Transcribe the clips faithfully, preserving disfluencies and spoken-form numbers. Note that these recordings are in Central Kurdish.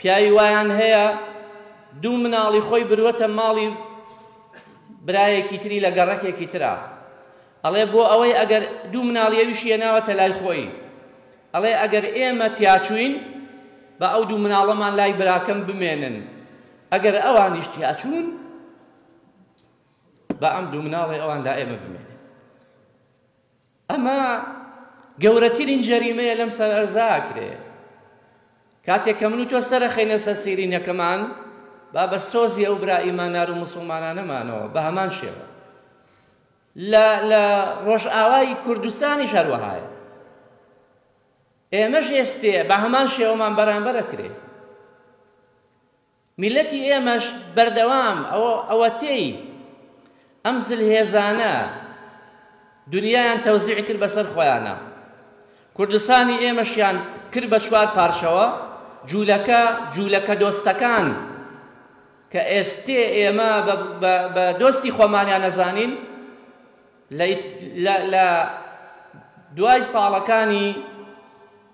پیاوی وایان هەیە دوو مناڵی خۆی بروەتە ماڵی برایەکی تری لە گەڕەکێکی ترا، ئەڵێ بۆ ئەوەی ئەگەر دوو مناڵی ئەویشی هێناوەتە لای خۆی، ئەڵێ ئەگەر ئێمە تیاچووین بە ئەو دوو مناڵەمان لای براکەم بمێنن، ئەگەر ئەوانیش تیاچوون بە ئەم دوو مناڵی ئەوان لا ئێمە بمێنن. ئەمە گەورەترین جەریمەیە لەم سەر ئەرزا ئەکرێ. کاتێک کە من و تۆ سەرەخەینە سەر سیرینەکەمان با بە سۆزی ئەو برا ئیماندار و موسڵمانانەمانەوە بە هەمان شێوە. لە ڕۆژئاوای کوردستانیش هەروەهایە، ئێمەش ئێستێ بە هەمان شێوەمان بەرامبەر ئەکرێ. میلەتی ئێمەش بەردەوام ئەوە تێی ئەم زلهێزانە دنیایان تەوزیع کرد بەسەر خۆیانە، کوردستانی ئێمەشیان کرد بە چوار پارچەوە، جوولەکە جوولەکە دۆستەکان کە ئێستێ ئێمە بە دۆستی خۆمانیان نەزانین، لە دوای ساڵەکانی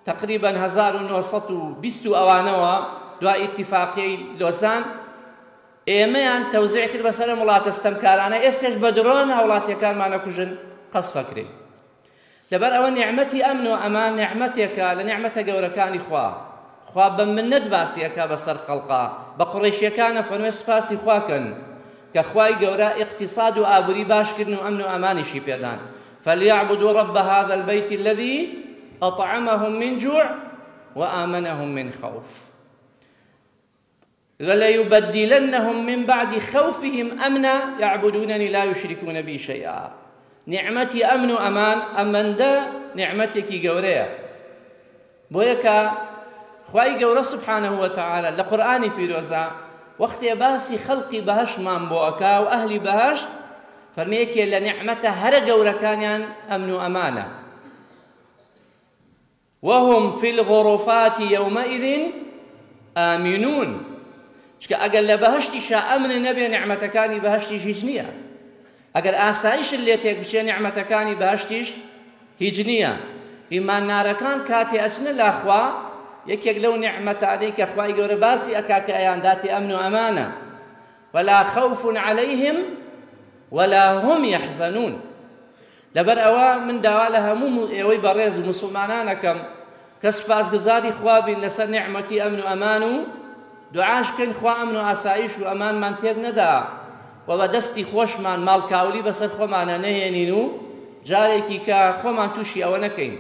تقریبا هەزار و نۆ سەد و بیست و ئەوانەوە دوای ئیتیفاقیەی لۆزان ئێمەیان تەوزیع کرد بەسەر ئەم وڵاتە ستەمکارانە، ئێستێش بە درۆن هاوڵاتیەکانمان ئەکوژن قەسفەکرێن. لەبەر ئەوە نیعمەتی ئەمن و ئەمان نیعمەتێکە لە نیعمەتە گەورەکانی خوا. خوا بە منەت باسی ئەکا بەسەر خەڵقا، بە قوڕەیشیەکانە فەرموێ سوپاسی خوا کەن کە خوای گەورە ئیقتصاد و ئابووری باشکردن و ئەمن و ئەمانیشی پێدان. فليعبدوا رب هذا البيت الذي أطعمهم من جوع وآمنهم من خوف وليبدلنهم من بعد خوفهم أمنا يعبدونني لا يشركون بي شيئا. نعمتي أمن وأمان أمن دا نعمتك گەورەیە. بۆیە کە خوای گەورە سبحانه وتعالى لە قورئانی پیرۆزە وەختێ باسی خەڵقی بەهەشتمان بۆ ئەکا و ئەهلی بەهەشت فەرمێکێ لە نیعمەتە هەرە گەورەکانیان ئەمن و ئەمانە. وهم في الغرفات يومئذ آمنون. چکە ئەگەر لە بەهەشتیشا ئەمن نەبێ نیعمەتەکانی بەهەشتیش هیچ نییە، ئەگەر ئاسایشت لێ تێک بچێ نیعمەتەکانی بەهەشتیش هیچ نییە. ئیماندارەکان کاتێ ئەچنە لاخوا یەکێک لەو نیعمەتانەی کە خوای گەورە باسی ئەکا کە ئەیانداتێ ئەمن و ئەمانە. ولا خوف عليهم ولا هم يحزنون. لەبەر ئەوە من داوا لە هەموو ئێوەی بەڕێز و موسڵمانانەکەم کە سوپاسگوزاری خوا بین لەسەر نیعمەتی ئەمن و ئەمان و دوعاش بکەین خوا ئەمن و ئاسایش و ئەمانمان تێک نەدا و بە دەستی خۆشمان ماڵکاولی بەسەر خۆمانە نەهێنین و جارێکی کە خۆمان تووشی ئەوە نەکەین.